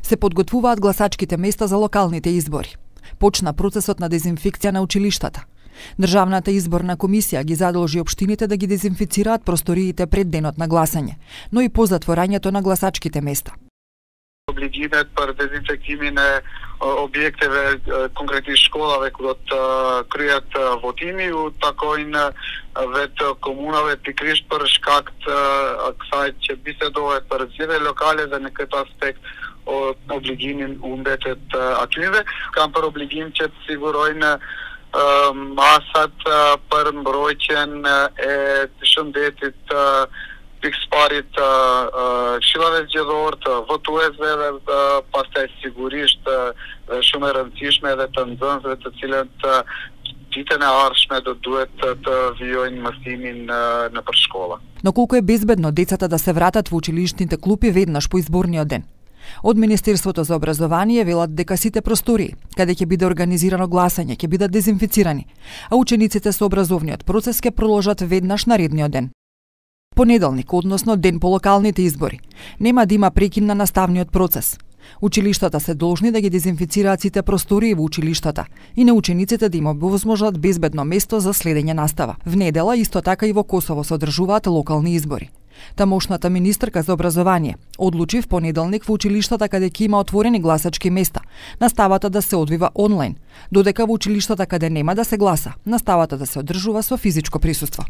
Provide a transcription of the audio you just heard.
Се подготвуваат гласачките места за локалните избори. Почна процесот на дезинфекција на училиштата. Државната изборна комисија ги задолжи општините да ги дезинфицираат просториите пред денот на гласање, но и по затворањето на гласачките места. Облигимет për dezinfektimin e objekteve, konkretisht shkollave ku do të kryhet votimi, u takojnë vetë komunave pikërisht për shkak të kësaj që bisedohet për zgjedhje lokale dhe në këtë aspekt obligimin u mbetet atyve. Kam për obligim që të sigurojnë masat për mbrojtjen e shëndetit pikësparit të këshillave zgjedhore, të votuesve dhe pastaj sigurisht dhe shumë e rëndësishme edhe të nxënësve të cilët ditën e ardhshme do duhet të vijojnë mësimin nëpër shkolla. Но колку е безбедно децата да се вратат во училишните клупи веднаш по изборниот ден? Од Министерството за образование велат дека сите простории, каде ќе биде организирано гласање, ќе бидат дезинфицирани, а учениците со образовниот процес ќе продолжат веднаш наредниот ден. Понеделник, односно ден по локалните избори, нема да има прекин на наставниот процес. Училиштата се должни да ги дезинфицираат сите простории во училиштата и на учениците да им овозможат безбедно место за следење настава. В недела исто така и во Косово се одржуваат локални избори. Тамошната министерка за образование одлучи в понеделник во училиштата каде ќе има отворени гласачки места, наставата да се одвива онлайн, додека во училиштата каде нема да се гласа, наставата да се одржува со физичко присуство.